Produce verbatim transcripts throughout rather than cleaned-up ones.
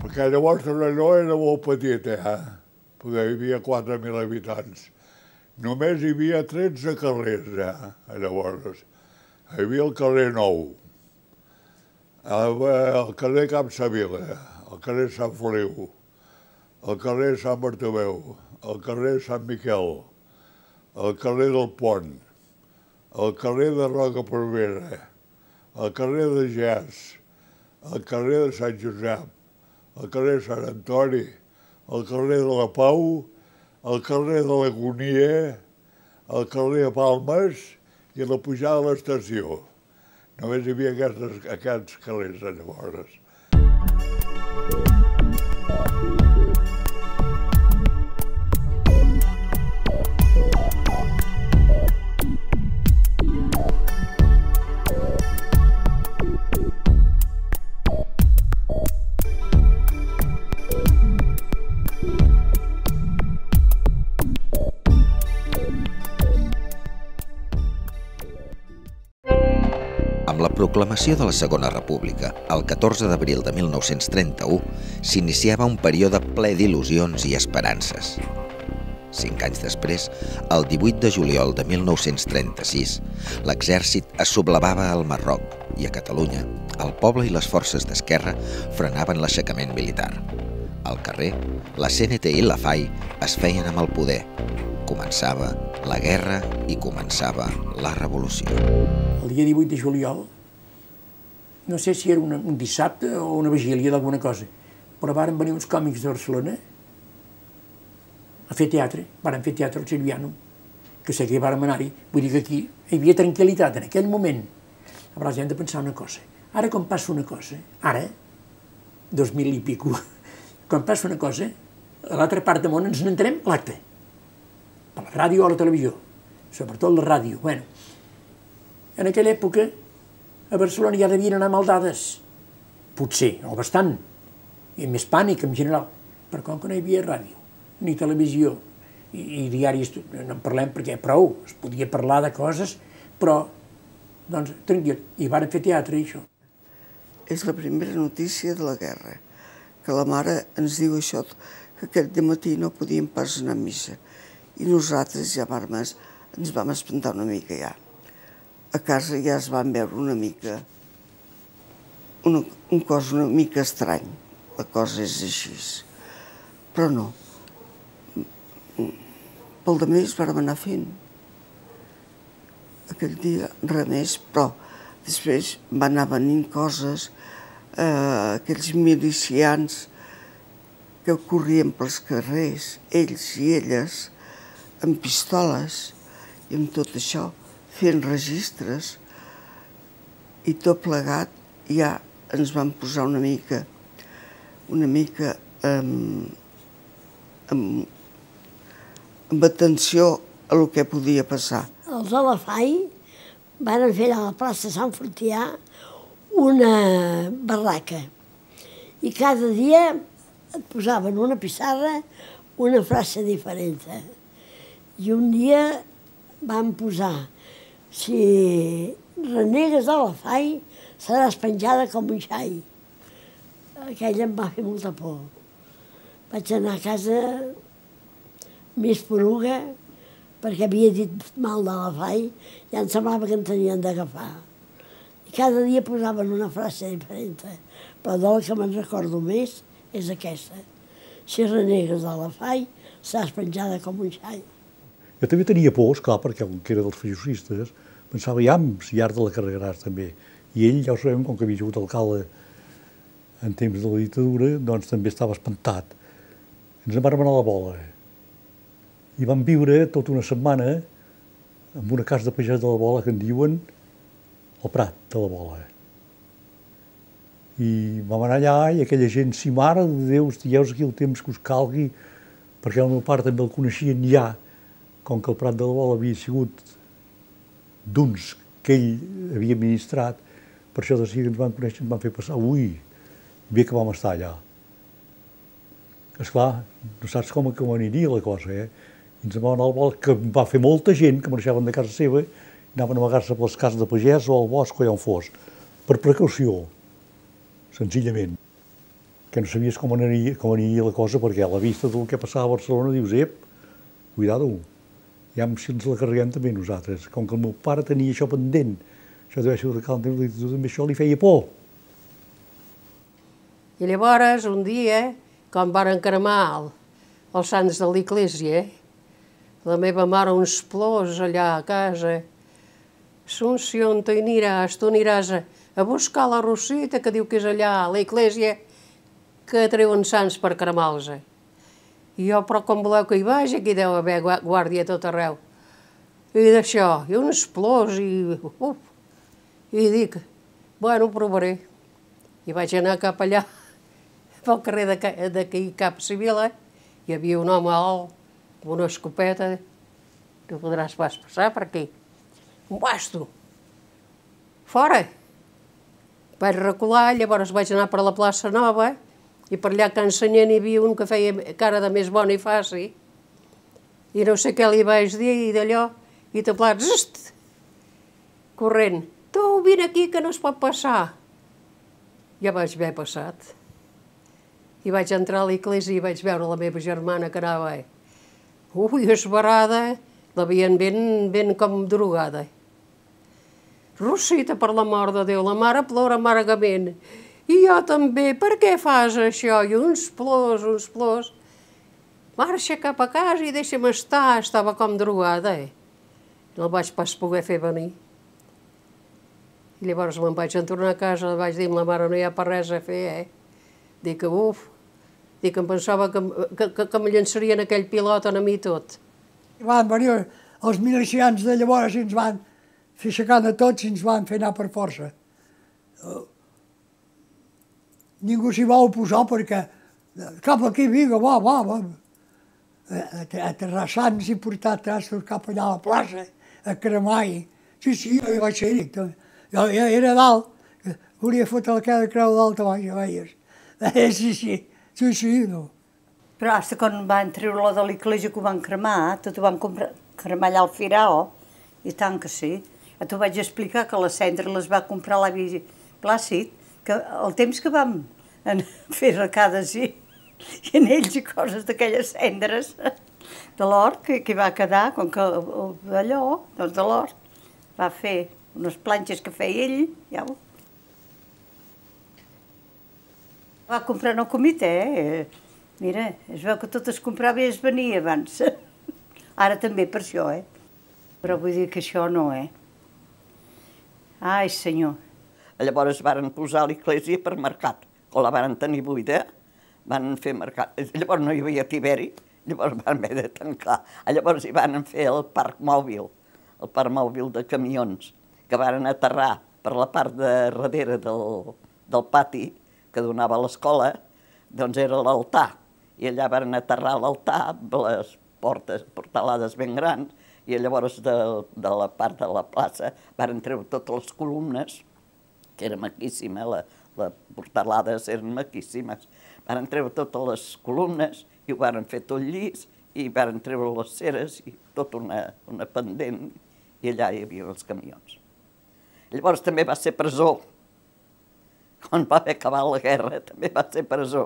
Perquè llavors no era molt petita, eh? Perquè hi havia quatre mil habitants. Només hi havia tretze carrers, eh? Llavors, hi havia el carrer Nou, el carrer Camp Savila, el carrer Sant Feliu, el carrer Sant Bartomeu, el carrer Sant Miquel, el carrer del Pont, el carrer de Roca Provera, el carrer de Gès, el carrer de Sant Josep, el carrer Sant Antoni, el carrer de la Pau, el carrer de l'Agonia, el carrer de Palmes i la pujada a l'estació. Només hi havia aquests, aquests carrers llavors. Amb la proclamació de la Segona República, el catorze d'abril de mil nou-cents trenta-u, s'iniciava un període ple d'il·lusions i esperances. Cinc anys després, el divuit de juliol de mil nou-cents trenta-sis, l'exèrcit es sublevava al Marroc i a Catalunya, el poble i les forces d'esquerra frenaven l'aixecament militar. Al carrer, la C N T i la F A I es feien amb el poder. Començava la guerra i començava la revolució. El dia divuit de juliol, no sé si era una, un dissabte o una vigília d'alguna cosa, però varen venir uns còmics de Barcelona a fer teatre, varen fer teatre al Silviano, que sé que hi vàrem anar-hi, vull dir que aquí hi havia tranquil·litat en aquell moment. Llavors hem de pensar una cosa, ara quan passa una cosa, ara, dos mil i pico, quan passa una cosa, a l'altra part del món ens n'entenem l'acte, per la ràdio o la televisió, sobretot la ràdio. Bueno, en aquella època a Barcelona ja devien anar mal dades, potser, o bastant, i més pànic en general, però com que no hi havia ràdio, ni televisió, i, i diaris, no en parlem perquè prou, es podia parlar de coses, però, doncs, tranquil, i varen fer teatre i això. És la primera notícia de la guerra, que la mare ens diu això, que aquest matí no podíem pas anar a missa, i nosaltres ja ens vam espantar una mica ja. A casa ja es van veure una mica, una, un cos una mica estrany, la cosa és així. Però no, pel de més vàrem anar fent. Aquell dia res més, però després van anar venint coses, eh, aquells milicians que corrien pels carrers, ells i elles, amb pistoles i amb tot això, fent registres, i tot plegat ja ens van posar una mica, una mica amb, amb, amb atenció a el que podia passar. Els de la F A I van fer a la plaça Sant Fortià una barraca i cada dia et posaven una pissarra, una frase diferent. I un dia van posar: si renegues de la F A I, seràs penjada com un xai. Aquella em va fer molta por. Vaig anar a casa més poruga, perquè havia dit mal de la F A I, ja em semblava que em tenien d'agafar. I cada dia posaven una frase diferent, però de la que me'n recordo més és aquesta: si renegues de la F A I, seràs penjada com un xai. Jo també tenia por, esclar, perquè com que era dels feixistes, pensava ja en Llar de la Carregaràs també. I ell, ja ho sabem, com que havia sigut alcalde en temps de la dictadura, doncs també estava espantat. Ens en vam anar a la Bola. I vam viure tota una setmana en una casa de pagès de la Bola que en diuen el Prat de la Bola. I vam anar allà i aquella gent, si mare de Déu, estigueu aquí el temps que us calgui, perquè el meu pare també el coneixien ja, com que el Prat de la Bola havia sigut d'uns que ell havia administrat, Per això de seguida ens van conèixer, ens van fer passar, ui, bé que vam estar allà. Esclar, no saps com, com aniria la cosa, eh? I ens vam anar al bosc, que va fer molta gent que marxaven de casa seva i anaven a amagar-se per les cases de pagès o al bosc o allà on fos, per precaució, senzillament. Que no sabies com aniria, com aniria la cosa, perquè a la vista del que passava a Barcelona dius, ep, cuidado, ja si ens la carreguem també nosaltres. Com que el meu pare tenia això pendent, això deu ser de cal, també això li feia por. I llavors, un dia, quan van cremar els sants de l'església, la meva mare uns plors allà a casa. Assumpció, on hi aniràs? Tu aniràs a buscar la Rosita, que diu que és allà a l'església, que treuen sants per cremar-los. I jo, però com voleu que hi vagi, aquí deu haver guàrdia a tot arreu. I d'això, i uns plors, i... Uf, i dic, bueno, ho provaré. I vaig anar cap allà, pel carrer d'aquí cap civil, eh? Hi havia un home alt, amb una escopeta, no podràs pas passar per aquí. Un basto. Fora. Vaig recular, llavors vaig anar per la plaça Nova, i per allà a Can Sanyent hi havia un que feia cara de més bona i faci, i no sé què li vaig dir, i d'allò, i taplat, zzt, corrent. Tu, vine aquí, que no es pot passar. Ja vaig haver passat. I vaig entrar a l'església i vaig veure la meva germana que anava, ui, esbarada, l'havien ben, ben com drogada. Rosita, per l'amor de Déu, la mare plora amargament. I jo també, per què fas això? I uns plors, uns plors. Marxa cap a casa i deixa'm estar, estava com drogada. No el vaig pas poder fer venir. I llavors me'n vaig tornar a casa, vaig dir a la mare, no hi ha per res a fer, eh? Dic que, uf, dic que em pensava que, que, que, que em llançarien aquell pilot a mi tot. Van venir els milicians de llavors i ens van fer aixecar de tots i ens van fer anar per força. Ningú s'hi va oposar perquè cap aquí, vinga, va, va, va. Aterrar sants i portar trastos cap allà a la plaça, a cremar. Sí, sí, jo hi vaig ser-hi. Jo era dalt, volia fotre la cada creu dalt a baix, ja veies. Sí, sí, sí, sí, no. Però fins quan van treure-la de l'església que ho van cremar, tot ho van cremar allà al Firao, i tant que sí. Ja t'ho vaig explicar que les cendres les va comprar l'avi Plàcid, que el temps que vam fer recades i anells i coses d'aquelles cendres de l'hort que hi va quedar, com que d'allò, doncs de l'hort, va fer unes planxes que feia ell, ja ho. Va comprar en el comitè, eh? Mira, es veu que tot es comprava i es venia abans. Ara també per això, eh? Però vull dir que això no, eh? Ai, senyor. Llavors van posar l'església per mercat. Quan la van tenir buida, van fer mercat. Llavors no hi havia tiberi, llavors van haver de tancar. Llavors hi van fer el parc mòbil, el parc mòbil de camions, que van aterrar per la part de darrere del, del pati que donava a l'escola, doncs era l'altar. I allà van aterrar l'altar amb les portes portalades ben grans, i llavors de, de la part de la plaça van treure totes les columnes, que era maquíssima, la, les portalades eren maquíssimes, van treure totes les columnes i ho van fer tot llis, i van treure les ceres i tota una, una pendent, i allà hi havia els camions. Llavors també va ser presó. Quan va haver acabat la guerra també va ser presó.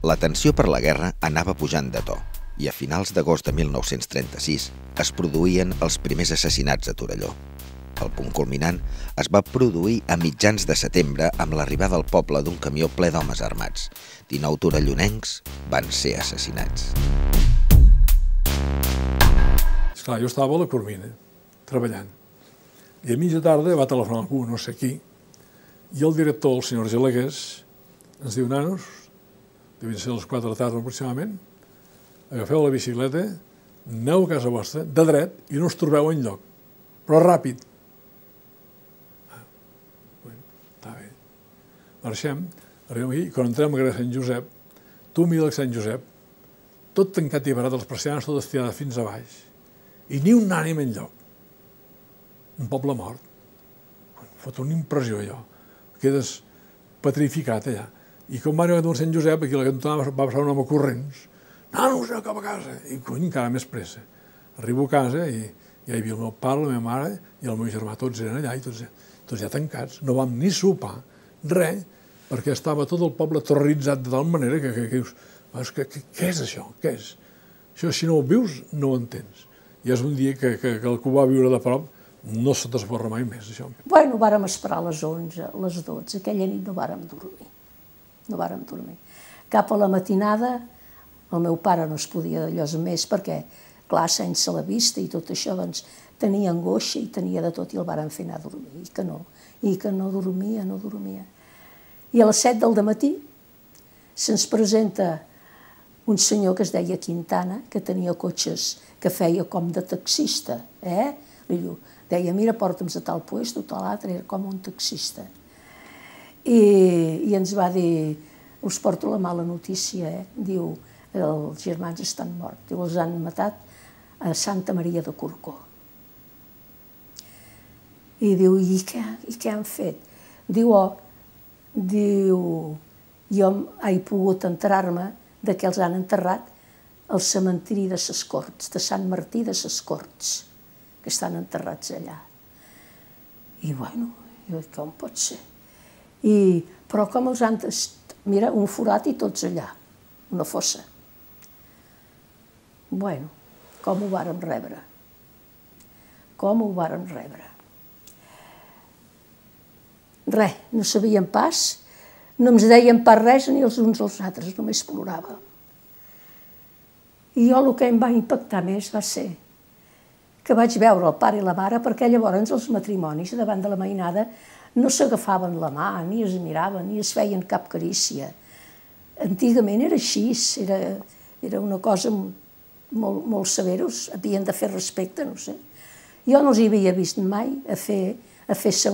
La tensió per la guerra anava pujant de to i a finals d'agost de mil nou-cents trenta-sis es produïen els primers assassinats a Torelló. El punt culminant es va produir a mitjans de setembre amb l'arribada al poble d'un camió ple d'homes armats. dinou torellonencs van ser assassinats. Esclar, jo estava a la Cormina, treballant, i a mitja tarda va telefonar algú, no sé qui, i el director, el senyor Gelegués, ens diu, nanos, devien ser les quatre de la tarda aproximadament, agafeu la bicicleta, aneu a casa vostra, de dret, i no us trobeu enlloc, però ràpid. Ah, bueno, està bé. Marxem, arribem aquí, quan entrem a carrer Sant Josep, tu mira el Sant Josep, tot tancat i barat, les persianes tot estirades fins a baix, i ni un ànim enlloc. un poble mort. Fot una impressió, allò. Quedes petrificat, allà. I com va arribar a Sant Josep, aquí a la cantonada va passar un home corrents. Nanos, aneu cap a casa. I, cony, encara més pressa. Arribo a casa i ja hi havia el meu pare, la meva mare i el meu germà. Tots eren allà i tots, tots ja tancats. No vam ni sopar, res, perquè estava tot el poble terroritzat de tal manera que, que, que dius, que, que, què és això? Què és? Això, si no ho vius, no ho entens. I és un dia que, que, que el que ho va viure de prop no se t'esborra mai més, això. Bueno, vàrem esperar a les onze, a les dotze. Aquella nit no vàrem dormir. No vàrem dormir. Cap a la matinada, el meu pare no es podia d'allò més perquè, clar, sense la vista i tot això, doncs, tenia angoixa i tenia de tot i el vàrem fer anar a dormir. I que no, i que no dormia, no dormia. I a les set del dematí se'ns presenta un senyor que es deia Quintana, que tenia cotxes que feia com de taxista, eh? Li diu, deia, mira, porta'ns a tal puesto, tal altre, era com un taxista. I, i ens va dir, us porto la mala notícia, eh? Diu, els germans estan morts, diu, els han matat a Santa Maria de Corcó. I diu, i què, i què han fet? Diu, oh, diu, jo he pogut enterar-me de que els han enterrat al cementiri de ses Corts, de Sant Martí de ses Corts, que estan enterrats allà. I bueno, com pot ser? I, però com els han... Mira, un forat i tots allà, una fossa. Bueno, com ho vàrem rebre? Com ho vàrem rebre? Res, no sabíem pas, no ens deien pas res ni els uns als altres, només ploràvem. I jo el que em va impactar més va ser que vaig veure el pare i la mare, perquè llavors els matrimonis davant de la mainada no s'agafaven la mà, ni es miraven, ni es feien cap carícia. Antigament era així, era, era una cosa molt, molt severa, havien de fer respecte, no sé. Jo no els hi havia vist mai a fer, a fer-se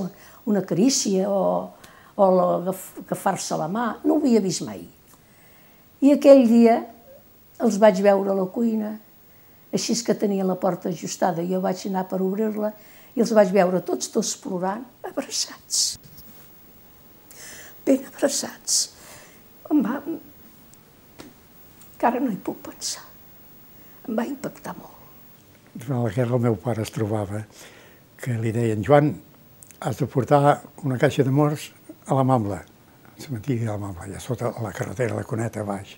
una carícia o, o agafar-se la mà, no ho havia vist mai. I aquell dia els vaig veure a la cuina, així que tenia la porta ajustada, jo vaig anar per obrir-la i els vaig veure tots dos plorant, abraçats, ben abraçats. Em va... Encara no hi puc pensar. Em va impactar molt. Durant la guerra el meu pare es trobava que li deien, Joan, has de portar una caixa de morts a la Mambla, al cementiri de la Mambla, allà sota la carretera, la Cuneta, baix.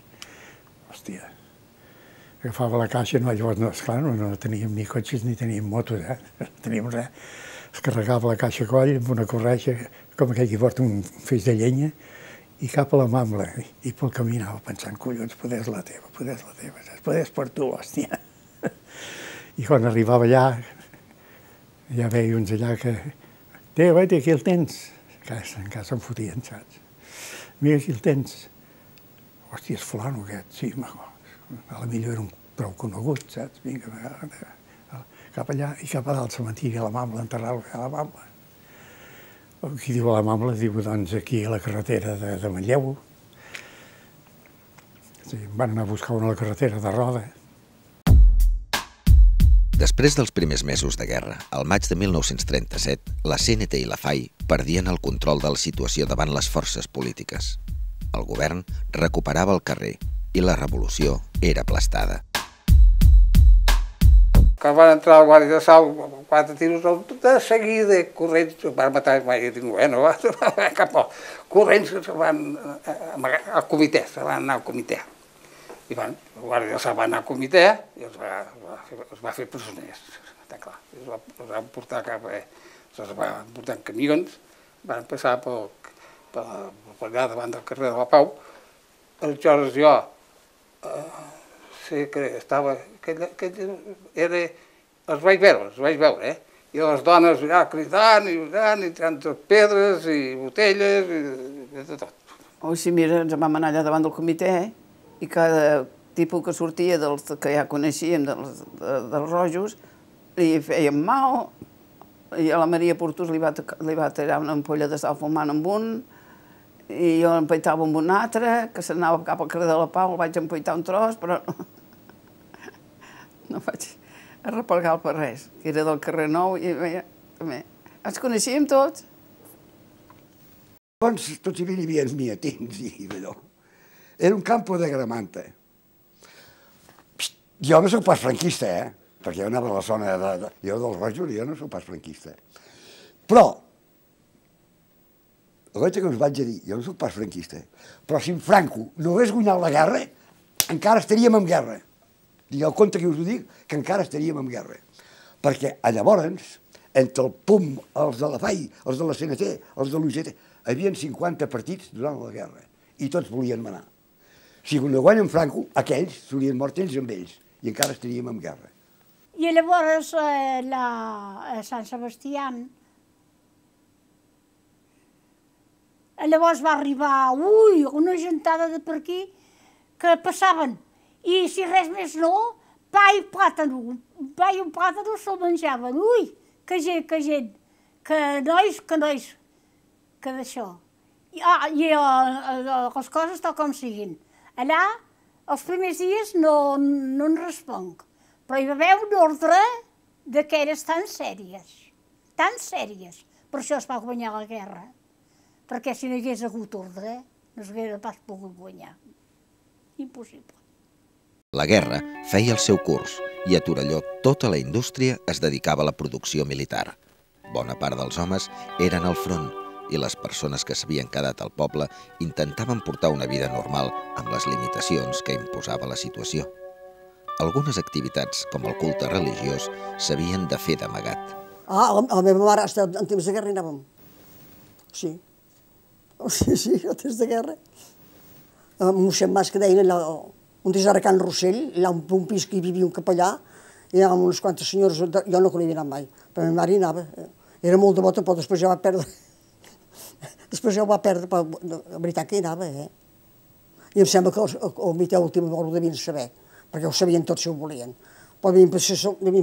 Hòstia, agafava la caixa, no, llavors, no, esclar, no, no teníem ni cotxes ni teníem motos, eh? No teníem res. Es carregava la caixa a coll amb una corretja, com aquell que porta un feix de llenya, i cap a la Mambla. I pel camí anava pensant, collons, podés la teva, podés la teva, podés per tu, hòstia. I quan arribava allà, ja veia uns allà que, té, vete, aquí el tens. En casa em fotien, saps? Mira, aquí el tens. Hòstia, és fulano aquest, sí, a la millor era un prou conegut, saps? Vinga, cap allà i cap a dalt, al cementiri, a la Mambla, enterrar-lo a la Mambla. Qui diu a la Mambla, diu, doncs, aquí a la carretera de, de Manlleu. Sí, van anar a buscar una a la carretera de Roda. Després dels primers mesos de guerra, al maig de mil nou-cents trenta-set, la C N T i la F A I perdien el control de la situació davant les forces polítiques. El govern recuperava el carrer i la revolució era aplastada. Quan van entrar al Guàrdia de Sau, quatre tiros, de seguida, corrents, van matar, i dic, bueno, cap a corrents, van al comitè, se van anar al comitè. I van, el Guàrdia de Sau va anar al comitè i els va, els va fer presoners, està clar. Els, va, els van portar cap a... Els van portar en camions, van passar pel, per, per allà davant del carrer de la Pau. Aleshores jo, eh, sé que estava... Aquell, aquell era, els vaig veure, els vaig veure, eh? I les dones allà cridant i cridant, i tirant pedres i botelles i, i de tot. O si mira, ens vam anar allà davant del comitè, eh? I cada tipus que sortia dels que ja coneixíem, dels, de, dels rojos, li feien mal, i a la Maria Portús li va, li va tirar una ampolla de sal fumant amb un, i jo empeitava amb un altre, que s'anava cap al carrer de la Pau, el vaig empeitar un tros, però no, no vaig arreplegar per res, que era del carrer Nou, i veia, també. Ens coneixíem tots. Abans tots hi havia miatins i allò. Era un campo de Gramanta. Jo no soc pas franquista, eh? Perquè jo anava a la zona de... Jo del Rojos, jo no soc pas franquista. Però, el que us vaig a dir, jo no soc pas franquista, però si en Franco no hagués guanyat la guerra, encara estaríem en guerra. Digueu compte que us ho dic, que encara estaríem en guerra. Perquè llavors, entre el P U M, els de la F A I, els de la C N T, els de l'U G T, hi havia cinquanta partits durant la guerra i tots volien manar. Si no guanyen Franco, aquells s'haurien mort ells amb ells i encara estaríem en guerra. I llavors eh, la, a Sant Sebastià, llavors va arribar, ui, una gentada de per aquí que passaven i si res més no, pa i plàtano, pa i un plàtano se'l menjaven, ui, que gent, que gent, que nois, que nois, que d'això. I, ah, i eh, les coses tal com siguin. Allà, els primers dies no, no en responc, però hi va haver un ordre d'aquelles tan sèries, tan sèries. Per això es va guanyar la guerra, perquè si no hi hagués hagut ordre, no s'hauria pas pogut guanyar. Impossible. La guerra feia el seu curs i a Torelló tota la indústria es dedicava a la producció militar. Bona part dels homes eren al front i les persones que s'havien quedat al poble intentaven portar una vida normal amb les limitacions que imposava la situació. Algunes activitats, com el culte religiós, s'havien de fer d'amagat. Ah, a la meva mare, en temps de guerra hi anàvem. Sí. Sí, sí, en temps de guerra. El mossèn Mas, que deien allà, un dia era a Can Rossell, allà un pis que hi vivia un capellà, i anàvem unes quantes senyores, jo no hi havia anat mai, però la meva mare hi anava. Era molt devota, però després ja va perdre. Després ja ho va perdre, però la veritat que hi anava, eh? I em sembla que el mitjà últim ho devien saber, perquè ho sabien tots si ho volien. Però devien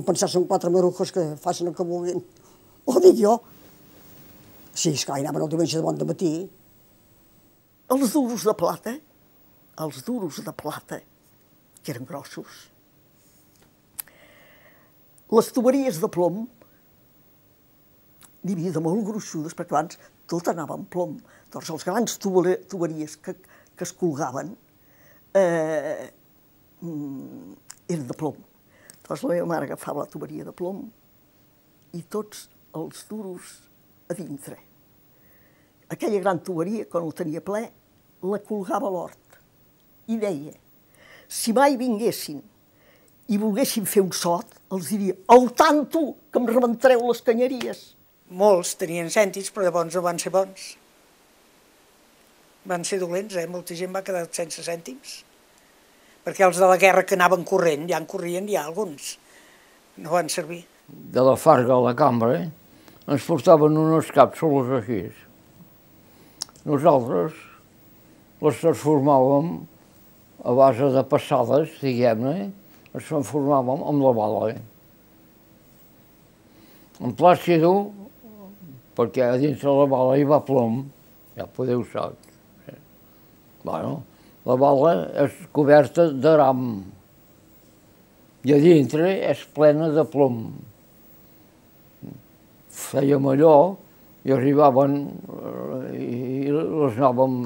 pensar que són quatre marujos que facin el que vulguin. Ho dic jo. Sí, esclar, hi anaven el diumenge de bon de matí. Els duros de plata, els duros de plata, que eren grossos. Les tuberies de plom, n'hi havia de molt gruixudes, perquè abans tot anava en plom. Doncs els grans tuberies que, que es colgaven eh, eren de plom. Doncs la meva mare agafava la tuberia de plom i tots els duros a dintre. Aquella gran tuberia, quan ho tenia ple, la colgava a l'hort i deia, si mai vinguessin i volguessin fer un sot, els diria, al tanto, que em rebentareu les canyeries. Molts tenien cèntims, però llavors no van ser bons. Van ser dolents, eh? Molta gent va quedar sense cèntims. Perquè els de la guerra que anaven corrent, ja en corrien ja alguns. No van servir. De la Farga a la cambra, eh? Ens portaven unes càpsules així. Nosaltres les transformàvem a base de passades, diguem-ne, les transformàvem amb la bala. En plàstido, perquè a dintre la bala hi va plom, ja podeu saber. Bueno, la bala és coberta d'aram i a dintre és plena de plom. Fèiem allò i arribaven i les anàvem,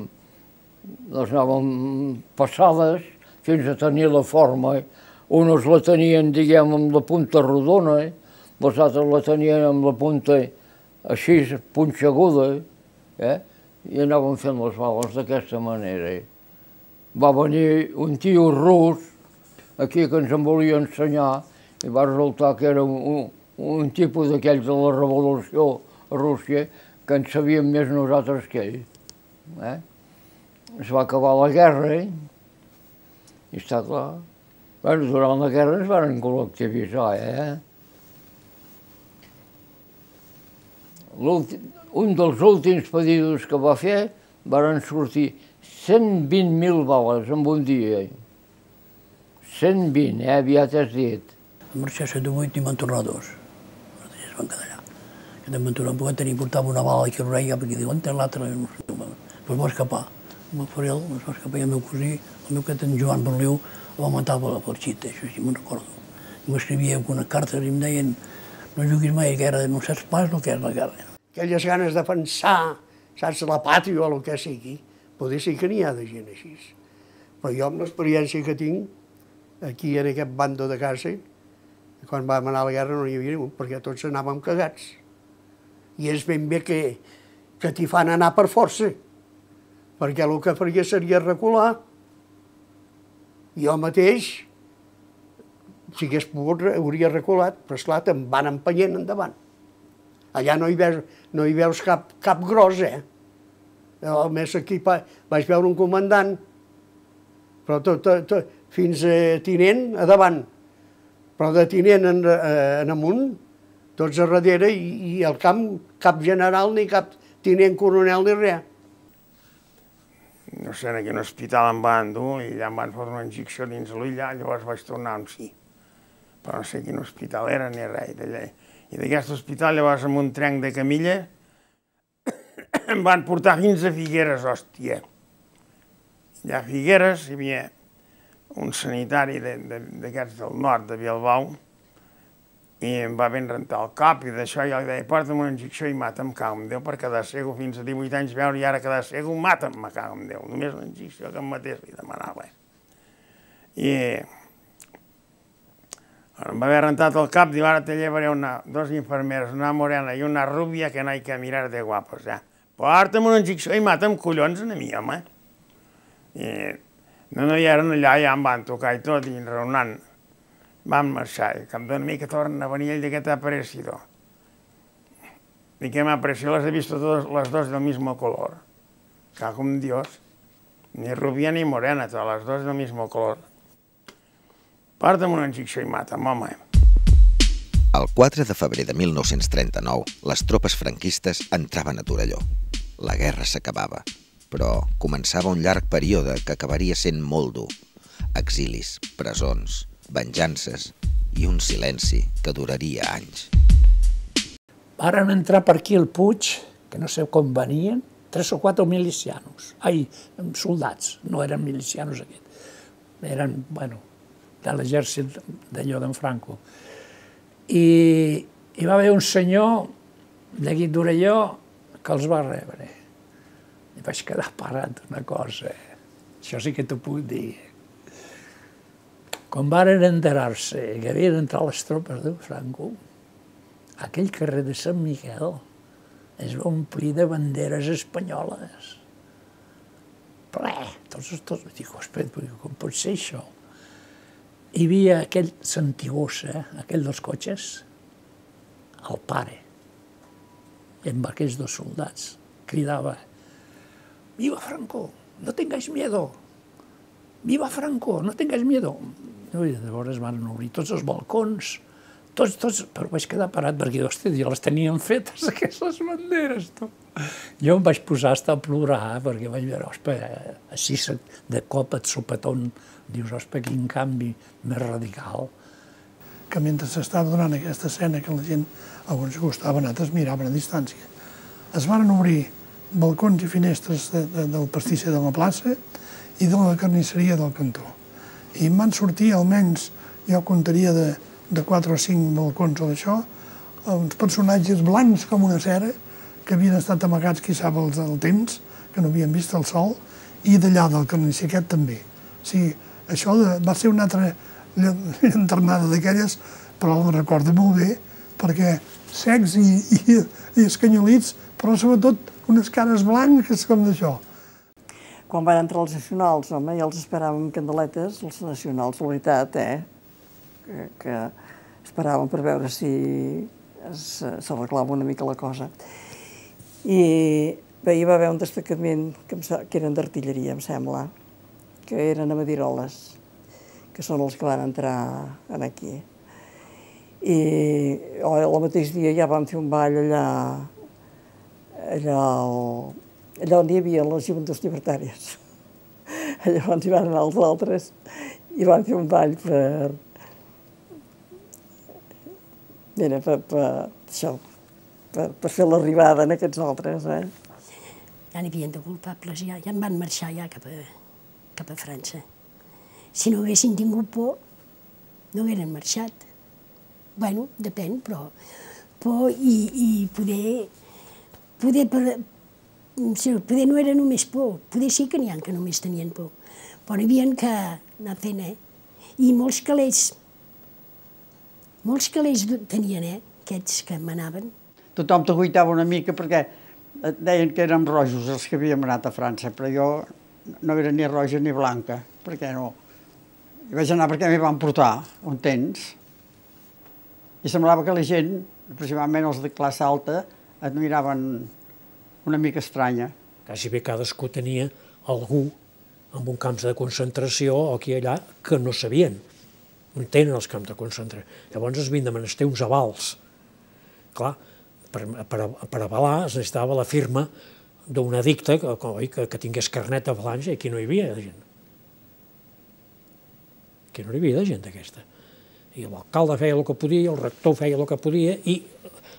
les anàvem passades fins a tenir la forma. Unes la tenien, diguem, amb la punta rodona, les altres la tenien amb la punta així, punxeguda, eh? I anàvem fent les bales d'aquesta manera. Va venir un tio rus aquí que ens en volia ensenyar i va resultar que era un, un tipus d'aquells de la revolució a Rússia que en sabíem més nosaltres que ell. Eh? Es va acabar la guerra, eh? I està clar. Bueno, durant la guerra ens van col·lectivitzar, eh? Un dels últims pedidos que va fer van sortir cent vint mil bales en un dia. cent vint, eh? Aviat has dit. En marxar a setanta-vuit i van tornar dos. Es van quedar allà. Que també van tornar, poder tenir, portava una bala aquí a l'orella, perquè diuen, on l'altra? Pues va escapar. El Farel es va escapar i el meu cosí, el meu quet, en Joan Berliu, el va matar pel xit, això sí, me'n recordo. M'escrivia algunes cartes i em deien No juguis mai a guerra, no saps pas el que és la guerra. Aquelles ganes de pensar, saps, la pàtria o el que sigui, poder ser que n'hi ha de gent així. Però jo, amb l'experiència que tinc, aquí en aquest bando de casa, quan vam anar a la guerra no hi havia ningú, perquè tots anàvem cagats. I és ben bé que, que t'hi fan anar per força, perquè el que faria seria recular. Jo mateix, si hagués pogut, hauria reculat, però esclar, te'n van empenyent endavant. Allà no hi veus, no hi veus cap, cap gros, eh? A més, aquí vaig veure un comandant, però tot, tot, tot, fins a tinent a davant, però de tinent en, en amunt, tots a darrere, i, i al camp cap general ni cap tinent coronel ni res. No sé, en aquell hospital em van dur i allà em van fotre una injecció dins l'ull, llavors vaig tornar amb sí. Però no sé quin hospital era ni res d'allà. I d'aquest hospital, llavors, amb un trenc de camilla, em van portar fins a Figueres, hòstia. Allà a Figueres hi havia un sanitari d'aquests del nord, de Bilbao, i em va ben rentar el cap, i d'això jo li deia, porta'm una injecció i mata'm, cago en Déu, per quedar cego fins a divuit anys veure, i ara quedar cego, mata'm, me cago en Déu. Només una injecció que em matés li demanava. I em va haver rentat el cap, diu, ara te llevaré una, dos infermeres, una morena i una rúbia que no hay que mirar de guapos, ja. Porta'm una injecció i mata'm collons a mi, home. I no, no hi eren allà, ja em van tocar i tot, i raonant. Vam marxar, i cap d'una mica tornen a venir ell de què t'ha aparecido. I què m'ha aparecido? Les he visto todas, las dos del mismo color. Cago en Dios. Ni rubia ni morena, todas las dos del mismo color. Porta'm una injecció i mata'm, home. El quatre de febrer de mil nou-cents trenta-nou, les tropes franquistes entraven a Torelló. La guerra s'acabava, però començava un llarg període que acabaria sent molt dur. Exilis, presons, venjances i un silenci que duraria anys. Varen entrar per aquí al Puig, que no sé com venien, tres o quatre milicianos. Ai, soldats, no eren milicianos aquests. Eren, bueno, de l'exèrcit d'allò d'en Franco. I hi va haver un senyor d'aquí d'Orelló que els va rebre. I vaig quedar parat una cosa. Això sí que t'ho puc dir. Quan varen enterar-se que havien entrat les tropes de Franco, aquell carrer de Sant Miquel es va omplir de banderes espanyoles. Ple, tots, tots, dic, espera, com pot ser això? Hi havia aquell Santigosa, aquell dels cotxes, el pare, amb aquests dos soldats, cridava: «Viva Franco, no tengáis miedo! Viva Franco, no tengáis miedo!» I llavors van obrir tots els balcons, tots, tots, però vaig quedar parat perquè, hòstia, ja les tenien fetes, aquestes banderes, tu. Jo em vaig posar a estar a plorar perquè vaig veure, ospa, així de cop et sopetón, dius, ospa, quin canvi més radical. Que mentre s'estava donant aquesta escena que la gent, alguns costaven, altres miraven a distància, es van obrir balcons i finestres de, de, del pastisser de la plaça i de la carnisseria del cantó. I em van sortir almenys, jo comptaria de, de quatre o cinc balcons o d'això, uns personatges blancs com una cera, que havien estat amagats, qui sap, el, el temps, que no havien vist el sol, i d'allà del carnisser aquest també. O sigui, això de, va ser una altra llanternada d'aquelles, però la recordo molt bé, perquè secs i, i, i escanyolits, però sobretot unes cares blanques com d'això. Quan van entrar els nacionals, home, ja els esperàvem candeletes, els nacionals, la veritat, eh? Que, que esperàvem per veure si s'arreglava una mica la cosa. I bé, hi va haver un destacament que, que eren d'artilleria, em sembla, que eren a Madiroles, que són els que van entrar aquí. I oh, el mateix dia ja vam fer un ball allà, allà, allà on hi havia les joventuts llibertàries. Allà on hi van anar els altres i van fer un ball per... Mira, per, per, això, per, per fer l'arribada en aquests altres, eh? Ja n'hi havien de culpables, ja, ja en van marxar ja cap a, cap a França. Si no haguessin tingut por, no hagueren marxat. bueno, depèn, però por i, i poder, poder, per, poder no era només por, poder sí que n'hi ha que només tenien por, però hi havia que anar fent, eh? I molts calés, molts calés tenien, eh? Aquests que manaven. Tothom t'aguitava una mica perquè et deien que érem rojos els que havíem anat a França, però jo no era ni roja ni blanca, perquè no. I vaig anar perquè m'hi van portar un temps, i semblava que la gent, aproximadament els de classe alta, et miraven una mica estranya. Quasi bé cadascú tenia algú amb un camp de concentració o aquí i allà que no sabien, no tenen els camps de concentració. Llavors es havien de menester uns avals. Clar, per, per, per avalar es necessitava la firma d'un edicte que, que, que tingués carnet de falange, i aquí no hi havia de gent. Aquí no hi havia de gent d'aquesta. I l'alcalde feia el que podia, el rector feia el que podia, i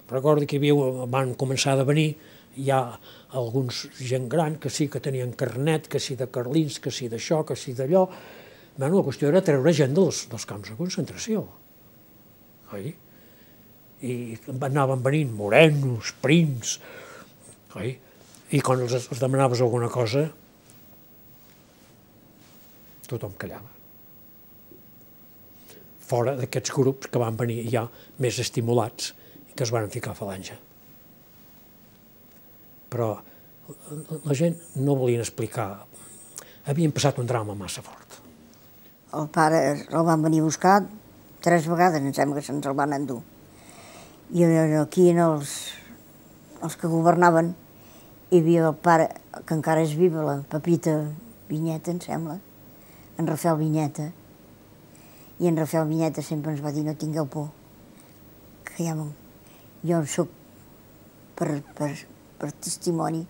recordo que hi havia, van començar a venir ja alguns gent gran que sí que tenien carnet, que sí de carlins, que sí d'això, que sí d'allò. Bueno, la qüestió era treure gent dels, dels camps de concentració. Oi? I anaven venint morenos, prims, oi? I quan els, els demanaves alguna cosa, tothom callava. Fora d'aquests grups que van venir ja més estimulats i que es van ficar a falange. Però la gent no volien explicar. Havien passat un drama massa fort. El pare el van venir a buscar tres vegades, em sembla que se'ns el van endur. I aquí en els, els que governaven hi havia el pare, que encara és viva, la Pepita Vinyeta, em sembla, en Rafael Vinyeta. I en Rafael Vinyeta sempre ens va dir no tingueu por, que ja jo soc per, per, per testimoni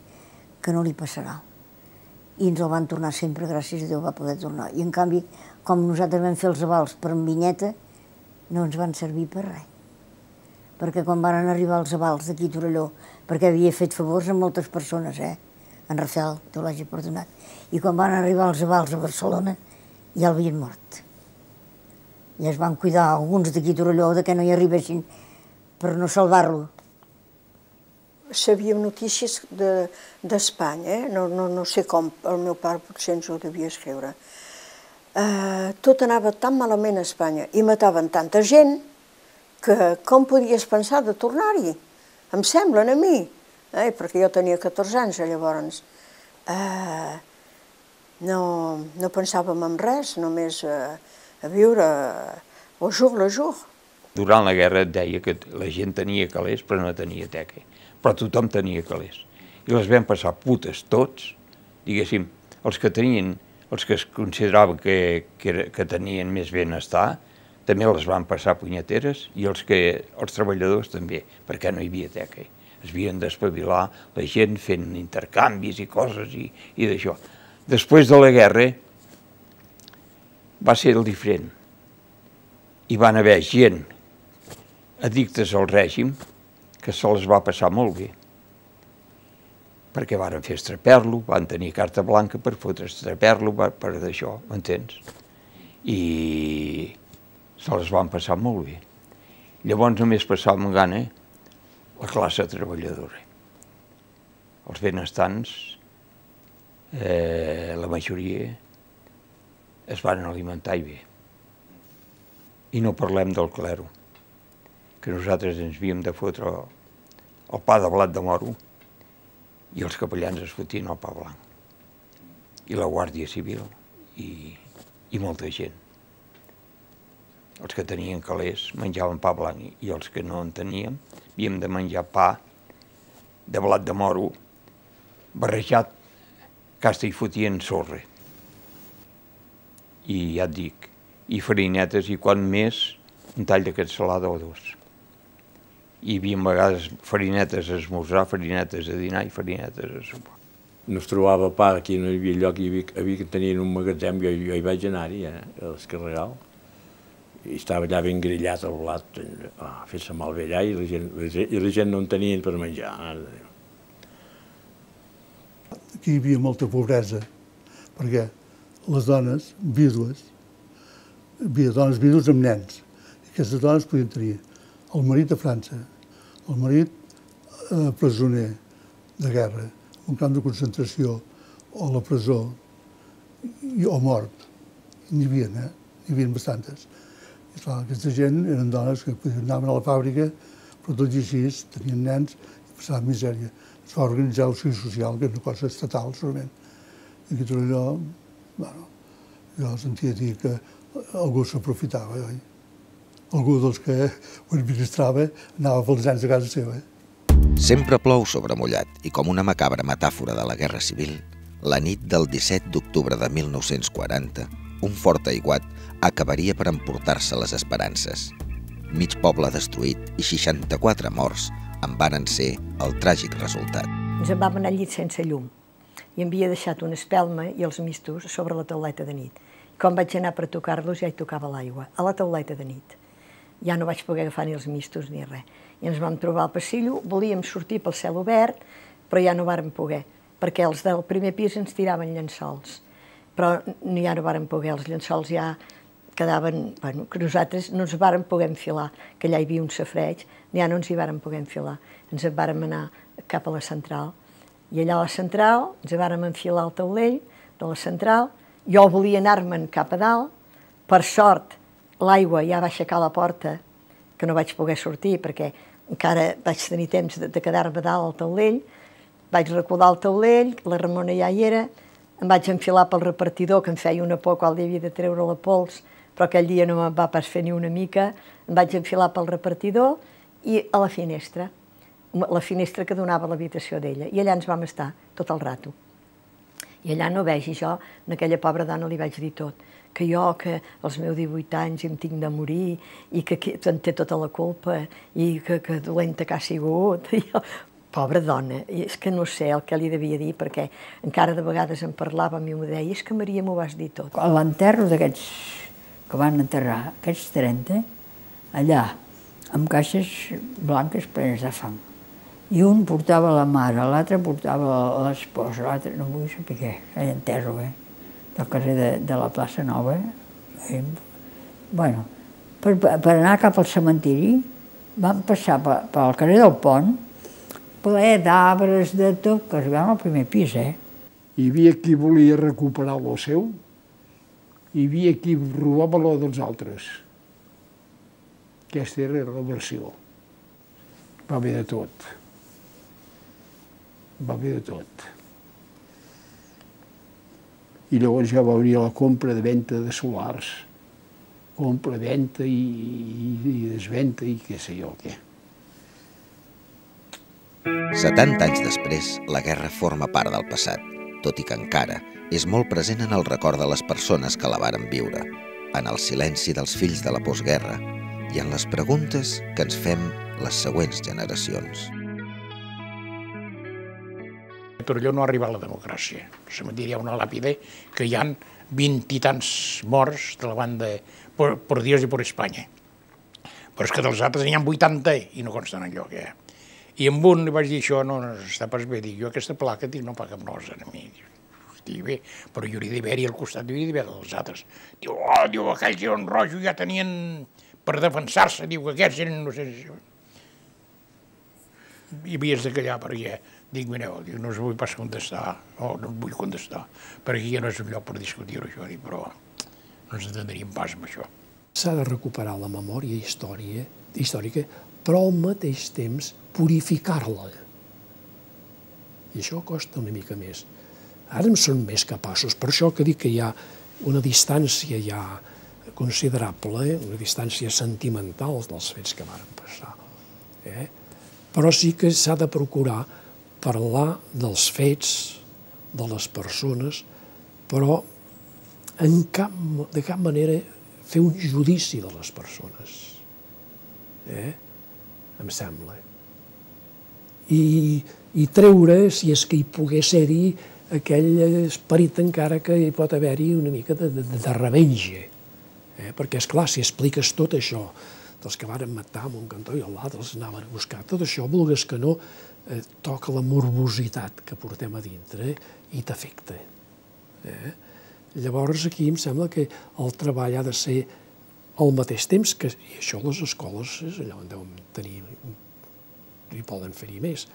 que no li passarà. I ens el van tornar sempre, gràcies a Déu va poder tornar. I en canvi, com nosaltres vam fer els avals per en Vinyeta, no ens van servir per res. Perquè quan van arribar els avals d'aquí a Torelló, perquè havia fet favors a moltes persones, eh? En Rafael, Déu l'hagi perdonat. I quan van arribar els avals a Barcelona, ja l'havien mort. I es van cuidar alguns d'aquí a Torelló que no hi arribessin per no salvar-lo. Sabíem notícies d'Espanya, eh? no, no, no sé com, el meu pare potser ens ho devia escriure. Uh, tot anava tan malament a Espanya i mataven tanta gent que com podies pensar de tornar-hi? Em semblen a mi, eh? Perquè jo tenia catorze anys llavors. Uh, no, no pensàvem en res, només uh, a viure au jour le jour. Durant la guerra et deia que la gent tenia calés però no tenia teca, però tothom tenia calés. I les vam passar putes tots, diguéssim, els que tenien, els que es consideraven que, que, que tenien més benestar, també les van passar punyeteres, i els, que, els treballadors també, perquè no hi havia teca. Es havien d'espavilar la gent fent intercanvis i coses i, i d'això. Després de la guerra va ser el diferent. Hi van haver gent addictes al règim que se les va passar molt bé, perquè varen fer estraper-lo, van tenir carta blanca per fotre estraper-lo, per d'això, m'entens? I se les van passar molt bé. Llavors només passàvem gana la classe treballadora. Els benestants, eh, la majoria, es van alimentar i bé. I no parlem del clero, que nosaltres ens havíem de fotre el pa de blat de moro i els capellans es fotien el pa blanc. I la Guàrdia Civil i, i molta gent. Els que tenien calés menjaven pa blanc i els que no en teníem havíem de menjar pa de blat de moro barrejat, que hasta hi fotien sorra. I ja et dic, i farinetes, i quan més, un tall de cansalada o dos. Hi havia a vegades farinetes a esmorzar, farinetes a dinar i farinetes a sopar. No es trobava pa, aquí no hi havia lloc, hi havia, havia que tenien un magatzem, jo, jo hi vaig anar-hi, eh, a l'Escarregal, i estava allà ben grillat el blat, oh, fent-se malbé allà, i la, gent, i la gent no en tenien per menjar. Aquí hi havia molta pobresa, perquè les dones vídues, hi havia dones vídues amb nens, i aquestes dones podien tenir el marit a França, el marit eh, presoner de guerra, un camp de concentració, o a la presó, i, o mort. N'hi havia, eh? N'hi havia bastantes. I clar, aquesta gent eren dones que anaven a la fàbrica, però tot i així tenien nens i passaven misèria. Es va organitzar el Servici Social, que és una cosa estatal, solament. I tot allò, bueno, jo sentia dir que algú s'aprofitava, oi? Algú dels que ho administrava anava pels nens a casa seva. Sempre plou sobre mullat i com una macabra metàfora de la Guerra Civil, la nit del disset d'octubre de mil nou-cents quaranta, un fort aiguat acabaria per emportar-se les esperances. Mig poble destruït i seixanta-quatre morts en varen ser el tràgic resultat. Ens en vam anar al llit sense llum i havia deixat una espelma i els mistos sobre la tauleta de nit. Quan vaig anar per tocar-los ja hi tocava l'aigua, a la tauleta de nit. Ja no vaig poder agafar ni els mistos ni res. I ens vam trobar al passillo, volíem sortir pel cel obert, però ja no vàrem poder, perquè els del primer pis ens tiraven llençols. Però ja no vàrem poder, els llençols ja quedaven... Bueno, que nosaltres no ens vàrem poder enfilar, que allà hi havia un safareig, ja no ens hi vàrem poder enfilar. Ens en vàrem anar cap a la central. I allà a la central ens vàrem enfilar al taulell de la central. Jo volia anar-me'n cap a dalt. Per sort, l'aigua ja va aixecar la porta, que no vaig poder sortir, perquè encara vaig tenir temps de quedar-me dalt al taulell. Vaig recordar el taulell, la Ramona ja hi era, em vaig enfilar pel repartidor, que em feia una por quan li havia de treure la pols, però aquell dia no me'n va pas fer ni una mica. Em vaig enfilar pel repartidor i a la finestra, la finestra que donava a l'habitació d'ella. I allà ens vam estar tot el rato. I allà no vegi jo, a aquella pobra dona li vaig dir tot, que jo, que als meus divuit anys em tinc de morir i que en té tota la culpa i que, que dolenta que ha sigut. I jo, pobra dona, i és que no sé el que li devia dir, perquè encara de vegades en parlàvem i m'ho deia, és que Maria m'ho vas dir tot. A l'enterro d'aquests que van enterrar, aquests trenta, allà, amb caixes blanques plenes de fang. I un portava la mare, l'altre portava l'esposa, l'altre no vull saber què, allà enterro, eh? Del carrer de, de la plaça Nova. Eh? Bueno, per, per anar cap al cementiri vam passar pel carrer del Pont, ple d'arbres, de tot, que arribàvem al primer pis, eh? Hi havia qui volia recuperar lo seu, hi havia qui robava lo dels altres. Aquesta era la versió. Va haver de tot. Va haver de tot. I llavors ja va obrir la compra de venda de solars. Compra, venda i, i, i desvenda i què sé jo què. setanta anys després, la guerra forma part del passat, tot i que encara és molt present en el record de les persones que la varen viure, en el silenci dels fills de la postguerra i en les preguntes que ens fem les següents generacions. A Torelló no ha arribat la democràcia. Al cementiri hi ha una làpida que hi ha vint i tants morts de la banda per, per Dios i per Espanya. Però és que dels altres n'hi ha vuitanta i no consten enlloc, eh? I amb un li vaig dir, això no està pas bé. Dic, jo aquesta placa no paga amb nosa a mi. Dic, bé, però hi hauria d'haver-hi al costat, hi hauria d'haver dels altres. Diu, oh, diu, aquells eren rojos, ja tenien per defensar-se, diu que aquests eren, no sé... I havies de callar perquè, dic, mireu, no us vull pas contestar, o no et vull contestar, perquè ja no és un lloc per discutir-ho, això, però no ens entendríem pas amb això. S'ha de recuperar la memòria història, històrica, però al mateix temps purificar-la. I això costa una mica més. Ara en són més capaços, per això que dic que hi ha una distància ja considerable, una distància sentimental dels fets que van passar. Eh? Però sí que s'ha de procurar parlar dels fets, de les persones, però en cap, de cap manera fer un judici de les persones. Eh? Em sembla. I, i treure, si és que hi pogués ser-hi, aquell esperit encara que hi pot haver-hi una mica de, de, de revenge. Eh? Perquè, esclar, si expliques tot això, dels que varen matar a un cantó i l'altre els anaven a buscar, tot això, vulgues que no, eh, toca la morbositat que portem a dintre i t'afecta. Eh? Llavors, aquí em sembla que el treball ha de ser al mateix temps que, i això les escoles és allà on deuen tenir, hi poden fer-hi més,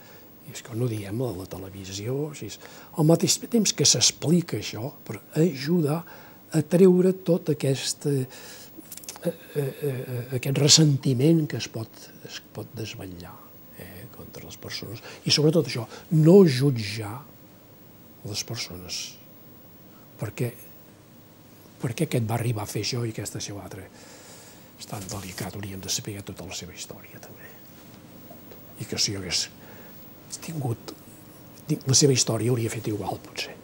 i és que no diem a la televisió, així, al mateix temps que s'explica això, per ajudar a treure tot aquest, eh, eh, aquest ressentiment que es pot, es pot desvetllar eh, contra les persones. I sobretot això, no jutjar les persones, perquè, perquè aquest va arribar a fer això i aquesta a ser altre. És tan delicat, hauríem de saber tota la seva història, també. I que si jo hagués tingut la seva història hauria fet igual, potser.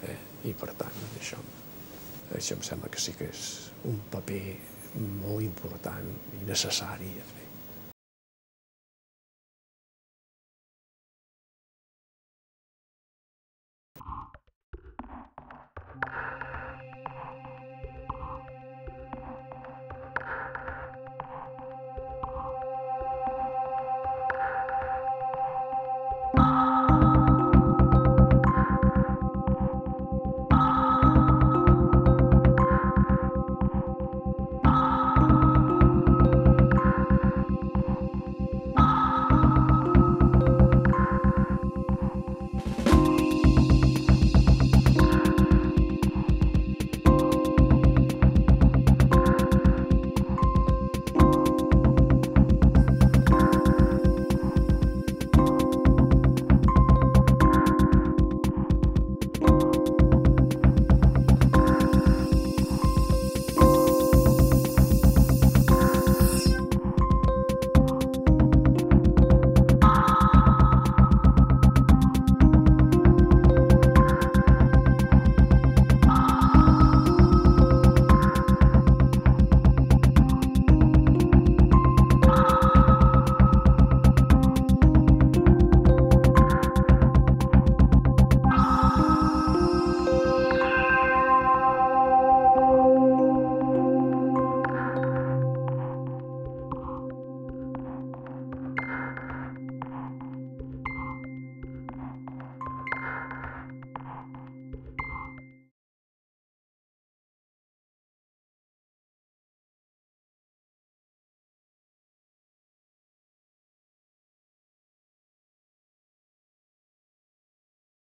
Eh? I per tant, això, això em sembla que sí que és un paper molt important i necessari a fer.